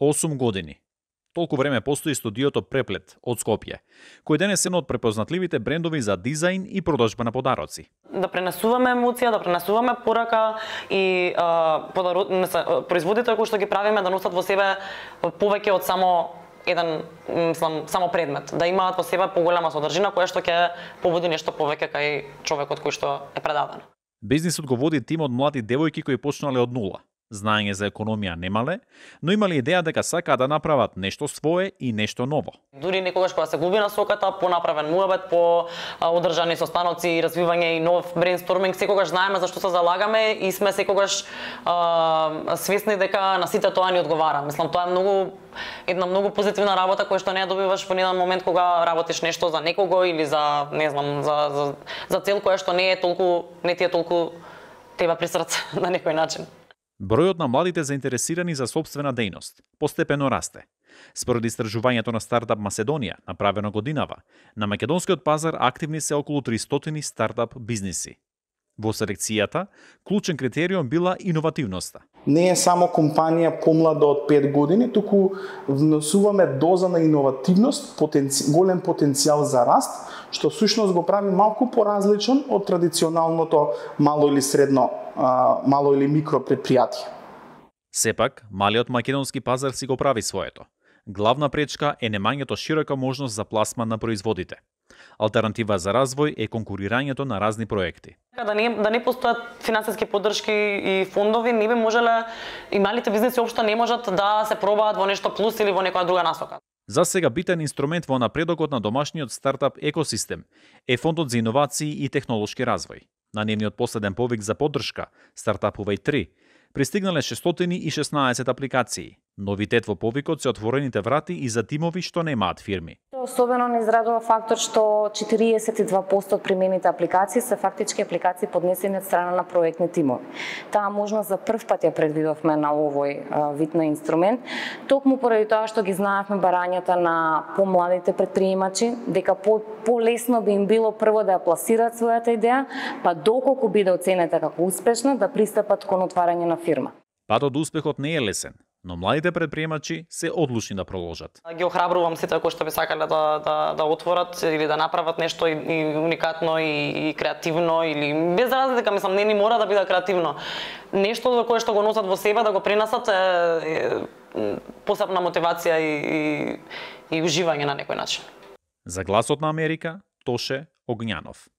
8 години. Толку време постои студиото Преплет од Скопје, кој денес е едно од препознатливите брендови за дизајн и продажба на подароци. Да пренесуваме емоција, да пренесуваме порака и производите кои што ги правиме да носат во себе повеќе од само само предмет, да имаат во себе поголема содржина која што ќе побуди нешто повеќе кај човекот кој што е предаден. Бизнисот го води тим од млади девојки кои почнале од нула. Знаење за економија немале, но имале идеја дека сакаат да направат нешто свое и нешто ново. Дури некогаш кога се губи насоката, по направен муабет, по одржани состаноци, развивање и нов брейнсторминг, секогаш знаеме за што се залагаме и сме секогаш свесни дека на сите тоа ни одговара. Мислам, тоа е една многу позитивна работа која што не ја добиваш во еден момент кога работиш нешто за некого или за за цел која што не ти е толку теба при срце на некој начин. Бројот на младите заинтересирани за сопствена дејност постепено расте. Според истражувањето на Стартап Македонија, направено годинава, на македонскиот пазар активни се околу 300 стартап бизниси. Во селекцијата, клучен критериум била иновативноста. Не е само компанија помлада од 5 години, туку внесуваме доза на иновативност, голем потенцијал за раст, што всушност го прави малку поразличен од традиционалното мало или микро предпријатие. Сепак, малиот македонски пазар си го прави своето. Главна пречка е немањето широка можност за пласман на производите. Алтернатива за развој е конкурирањето на разни проекти. Да не постојат финансиски поддршки и фондови, не би можеле и малите бизниси општо не можат да се пробаат во нешто плюс или во некоја друга насока. За сега битен инструмент во напредокот на домашниот стартап екосистем е Фондот за иновации и технолошки развој. На нивниот последен повик за поддршка, Стартапувај 3, пристигнале 616 апликации. Новитет во повикот се отворените врати и за тимови што немаат фирми. Особено не израдува фактор што 42% од примените апликации се фактички апликации поднесени од страна на проектни тимови. Таа можност за прв пат ја предвидовме на овој вид на инструмент, токму поради тоа што ги знаевме барањата на помладите предприемачи, дека полесно би им било прво да ја пласираат својата идеја, па доколку биде оценета како успешна, да пристапат кон отварање на фирма. Патот до успехот не е лесен, но младите предприемачи се одлучни да продолжат. Ги охрабрувам сите кои што би сакале да отворат или да направат нешто и уникатно и креативно или без разлика, мислам, не ни мора да биде креативно. Нешто за кое што го носат во себе да го пренесат е посебна мотивација и уживање на некој начин. За Гласот на Америка, Тоше Огњанов.